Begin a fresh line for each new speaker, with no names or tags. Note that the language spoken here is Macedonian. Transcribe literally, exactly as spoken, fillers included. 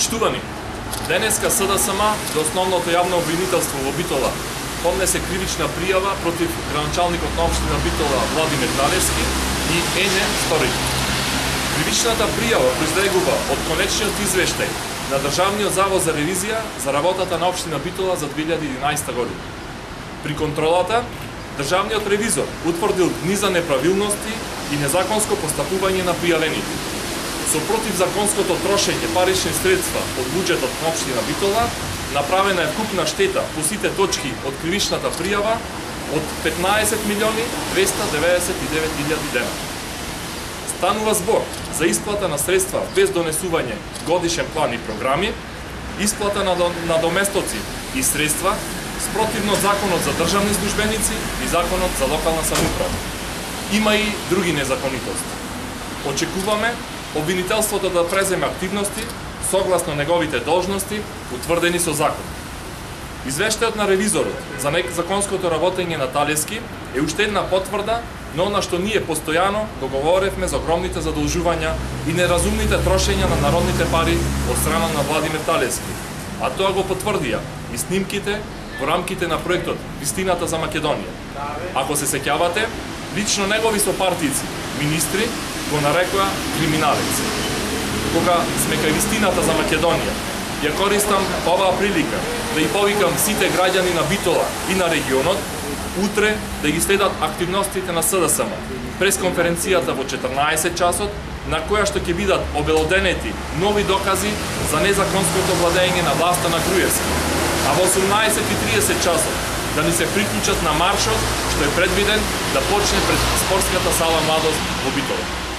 Почитувани, денеска СДСМ до основното јавно обвинителство во Битола поднесе кривична пријава против градоначалникот на општина Битола Владимир Талевски и Ене Сториќ. Кривичната пријава произлегува од конечниот извештај на Државниот завод за ревизија за работата на општина Битола за две илјади и единаесета година. При контролата, државниот ревизор утврдил низа неправилности и незаконско постапување на пријавените. Со противзаконското трошење парични средства од буџетот на општина Битола, направена е вкупна штета по сите точки од кривичната пријава од петнаесет милиони двеста деветдесет и девет илјади денари. Станува збор за исплата на средства без донесување годишен план и програми, исплата на надоместоци и средства спротивно законот за државни службеници и законот за локална самоуправа. Има и други незаконитости. Очекуваме обвинителството да преземе активности согласно неговите должности утврдени со закон. Извештајот на ревизорот за незаконското работење на Талевски е уште една потврда на она што ние постојано го говоревме за огромните задолжувања и неразумните трошења на народните пари од страна на Владимир Талевски, а тоа го потврдија и снимките во рамките на проектот Вистината за Македонија. Ако се сеќавате, лично негови сопартици, министри, го нарекоа криминалец. Кога сме кај Вистината за Македонија, ја користам оваа прилика да и повикам сите граѓани на Битола и на регионот утре да ги следат активностите на СДСМ през конференцијата во четрнаесет часот, на која што ќе бидат обелоденети нови докази за незаконското владење на власта на Груевски, а во осумнаесет и триесет часот да ни се приклучат на маршот што е предвиден да почне пред спортската сала Младост во Битола.